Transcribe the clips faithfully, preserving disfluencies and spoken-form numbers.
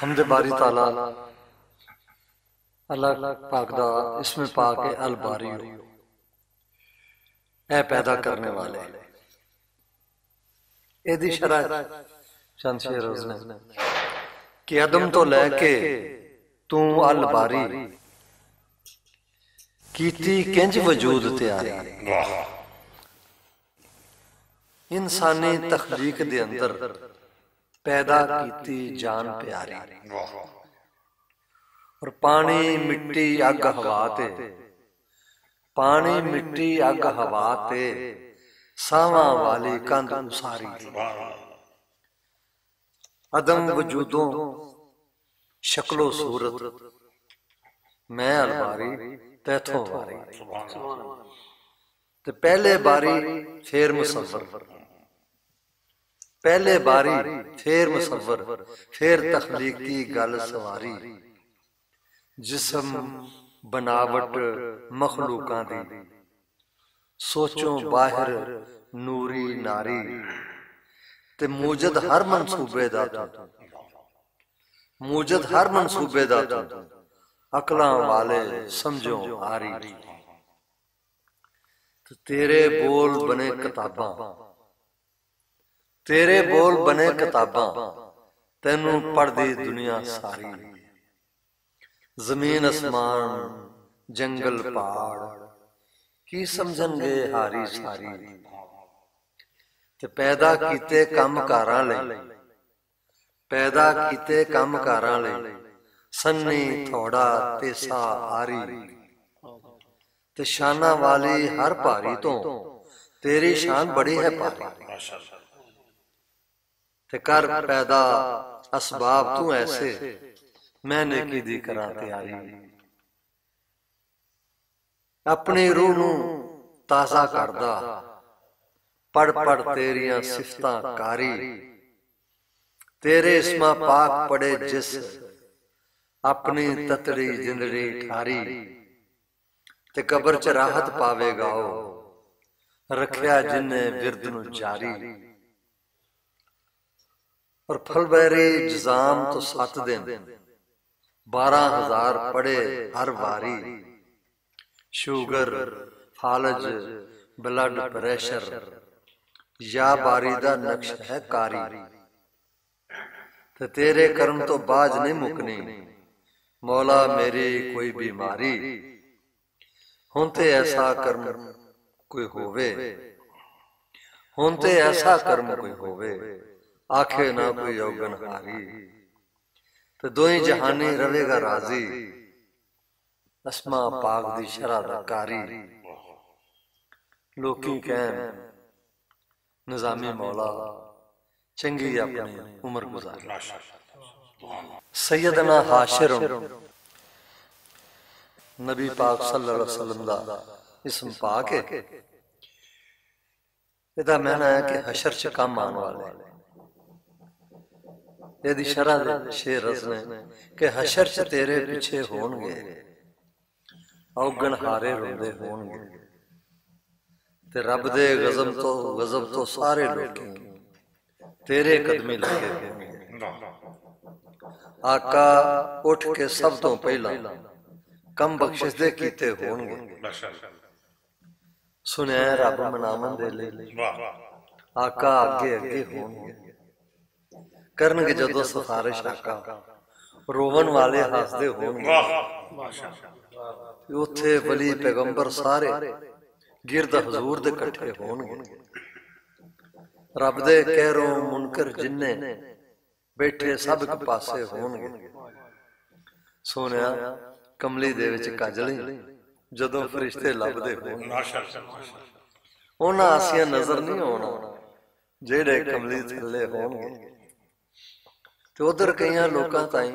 حمد باری تعالیٰ، اللہ پاک دا اسم پاک ہے الباری، اے پیدا کرنے والے۔ اے دی شرح چند شعر اس نے کہ عدم تو لے کے توں الباری کیتی کنج وجود تیاری۔ انسانی تخلیق دے اندر پیدا کیتی جان پیاری۔ اور پانی مٹی اگ ہوا تے، پانی مٹی اگ ہوا تے، ساواں والی کند اساری۔ عدم وجودوں شکل و صورت، میں الواری تیتھوں واری۔ تے پہلے باری پھر مصور، پہلے باری پھر مصور، پھر تخلیقی گل سواری۔ جسم بناوٹ مخلوقاں دی، سوچوں باہر نوری ناری۔ تے موجد ہر منصوبے دا تو، موجد ہر منصوبے دا تو، عقلاں والے سمجھو آری۔ تے تیرے بول بنے کتاباں، تیرے بول بنے کتاباں، تینوں پڑھدی دنیا ساری۔ زمین اسمان، جنگل پہاڑ، کی سمجھن گے ہاری ساری۔ تے پیدا کیتے کم کاراں لئی، پیدا کیتے کم کاراں لئی، سنی تھوڑا تے سا آری۔ تے شاناں والی ہر پاری تو، تیری شان بڑی ہے پاری۔ تے کر پیدا اسباب تو ایسے، میں نیکی دی کراں تیاری۔ اپنی روح نوں تازہ کردا، پڑھ پڑھ تیریاں صفتاں کاری۔ تیرے اسماں پاک پڑھے جس، اپنی تتڑی جندڑی ٹھاری۔ تے قبر چ راحت پاوے گا او، رکھیا جن نے ورد نوں جاری۔ اور پھل بیری جزام تو ست دن، بارہ ہزار پڑھے ہر واری۔ شوگر، فالج، بلڈ پریشر، یا باری دا نقش ہے کاری۔ تے تیرے کرم تو باج نہیں مکنی، مولا میری کوئی بیماری۔ ہن تے ایسا کرم کوئی ہووے، ہن تے ایسا کرم کوئی ہووے، آکھے نہ کوئی اوگن ہاری۔ تے دوئیں جہانی رہے گا راضی، اسماء پاک دی شرح دا قاری۔ لوکی کہن نظامی مولا چنگی اپنی عمر گزاری۔ سیدنا حاشر نبی پاک صلی اللہ علیہ وسلم دا اسم پاک ہے۔ ادا مہنا ہے کہ حشر چ کم آن والے۔ اے دی شرح دے شعر رسنے کہ حشر چ تیرے پیچھے ہون گے، اوگن ہارے روندے ہون گے۔ تے رب دے غضب تو، غضب تو سارے لوکی تیرے قدمی لگے ہون گے۔ آقا اٹھ کے سب تو پہلا کم بخشش دے کیتے ہون گے۔ سنیا رب مناون دے لئی، آقا اگے اگے ہون گے۔ کرن گے جدوں سفارش آقا، روون والے ہسدے ہون گے۔ اوتھے ولی پیغمبر سارے گرد حضور دے کٹھے ہون گے۔ رب دے کہروں منکر جننے بیٹھے سب اک پاسے ہون گے۔ سونیا، کملی دے وچ کجلی جدوں فرشتے لبدے ہون گے۔ انہاں آسیاں نظر نہیں آنا جیڑے کملی تھلے ہون گے۔ تے ادھر کئیاں لوکاں تائیں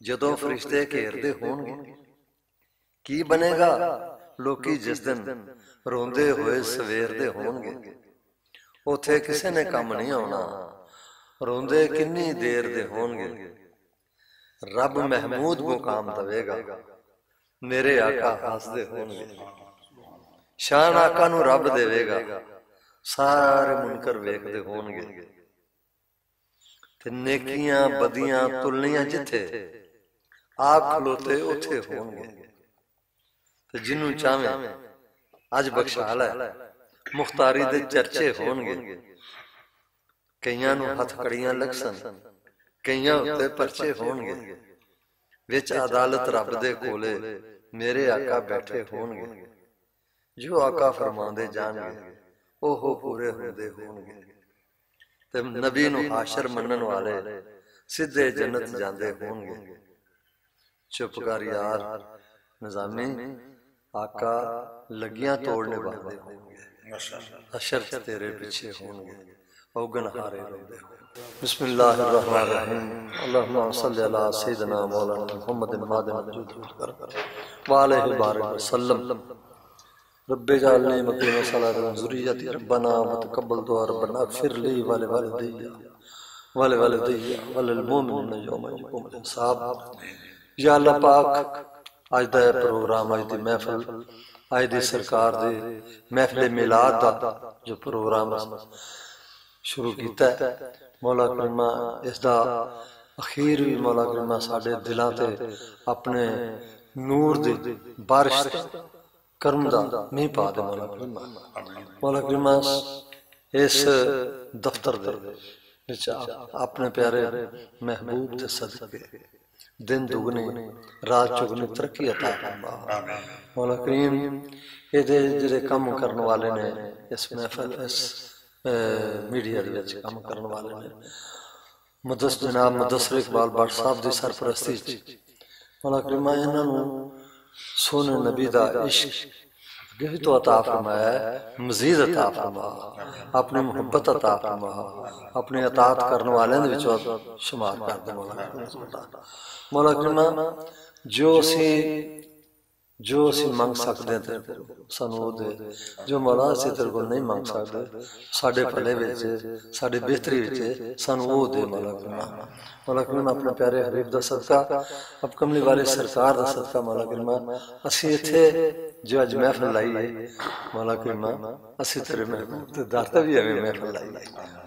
جدوں فرشتے گھیردے ہون گے، کی بنے گا؟ لوکی جس دن روندے ہوئے سویر دے ہون گے، اوتھے کسے نے کم نہیں آنا، روندے کنی دیر دے ہون گے۔ رب محمود مقام دے گا، میرے آقا ہسدے ہون گے۔ شان آقا نو رب دے گا، سارے منکر ویکھدے ہون گے۔ تے نیکیاں بدیاں تلنیاں جتھے، آپ کھلوتے اوتھے ہون گے۔ تے جنوں چاہویں اج بخشا لے، مختاری دے چرچے ہون گے۔ کئیاں نوں ہتھ کڑیاں لگسن، کئیاں اُتے پرچے ہون گے۔ وچ عدالت رب دے کولے میرے آقا بیٹھے ہون گے۔ جو آقا فرماندے جان گے، اوہو پورے ہوندے ہون گے۔ تے نبی نوں حاشر منن والے سیدھے جنت جاندے ہون گے۔ چپ کر یار نظامی، آقا لگیاں توڑنے باندے ہون گے۔ حشر چ تیرے پیچھے ہون گے، اوگن ہارے روندے ہون گے۔ بسم اللہ الرحمن الرحیم۔ اللہم صلی علی سیدنا مولانا محمد مادن وجود والکرم وآلہ بارک وسلم۔ رب اجعلنی مقیم الصلاۃ ومن ذریتی، ربنا وتقبل دعا، ربنا اغفر لی ولوالدی ولوالدی وللمؤمنین یوم یقوم الحساب۔ یا اللہ پاک، اج دا اے پروگرام، اج دی محفل، اج دی سرکار دی محفل میلاد دا جو پروگرام شروع کیتا ہے، مولا کریمہ اس دا اخیر بھی مولا کریمہ ساڈے دلاں تے اپنے نور دی بارش دا، کرم دا مینہ پا دے مولا کریمہ۔ مولا کریمہ اس دفتر دے وچ اپنے پیارے محبوب دے صدقے دن دگنی رات چگنی ترقی عطا فرما۔ مولا کریم، اے دے جڑے کم کرن والے نے، اس محفل، اس، اے، میڈیا دے وچ کم کرن والے نے، مدس-، جناب مدثر اقبال بٹ صاحب دی سرپرستی وچ، مولا کریمہ انہاں نوں سونے نبی دا عشق اگے بھی تو عطا فرمایا ہے، مزید عطا فرما، اپنی محبت عطا فرما، اپنی اطاعت کرن والے دے وچوں شمار کر دے مولا۔ مولا کریمہ، جو اسی، جو اسی منگ سکدے ہیں تیرے کول، سانو او دے۔ جو مولا اسی تیرے کول نہیں منگ سکدے، ساڈے بھلے وچ، ساڈی بہتری وچ، سانو او دے مولا کریمہ۔ مولا کریمہ، اپنے پیارے حبیب دا صدقہ، اپ کملی والے سرکار دا صدقہ مولا کریمہ، اسی اتھے جو اج محفل لائی ہے، مولا کریمہ، اسی تیرے محبوب دے در تے بھی ایویں محفل لائی ہے،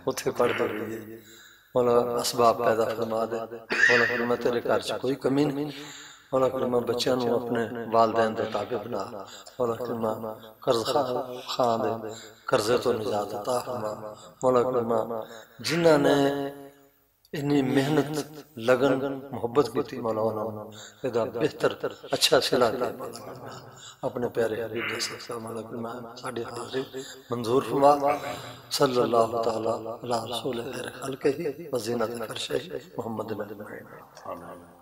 اتھے پڑھ دے رہی ہے۔ مولا اسباب پیدا فرما دے۔ مولا کریمہ، تیرے گھر چ کوئی کمی نہیں۔ مولا کریمہ، بچیاں نوں اپنے والدین دے تابع بنا۔ مولا کریمہ، قرض خان، خان دے قرضے تو نجات عطا فرما۔ مولا کریمہ، جنہاں نے انی محنت، لگن، محبت کیتی، مولا انہاں نوں ادا بہتر، اچھا صلہ دے۔ اپنے پیارے حبیب دے صدقہ مولا کریمہ ساڈی حاضری منظور فرما۔ صلی اللہ تعالی علی رسول خیر خلقہ و زینت فرشہ محمد اجمعین۔ آمین۔